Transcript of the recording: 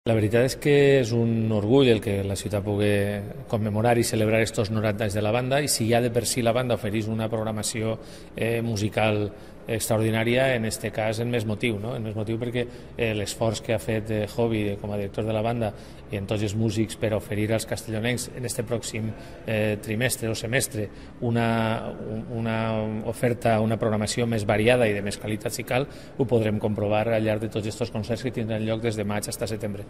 La veritat és que és un orgull el que la ciutat pugui commemorar i celebrar estos 90 anys de la banda, i si ja de per si la banda ofereix una programació musical extraordinària, en aquest cas en més motiu, no? En més motiu perquè l'esforç que ha fet Jovi com a director de la banda i en tots els músics per oferir als castellonencs en este pròxim trimestre o semestre una oferta, una programació més variada i de més qualitat si cal, ho podrem comprovar al llarg de tots aquests concerts que tindran lloc des de maig fins a setembre.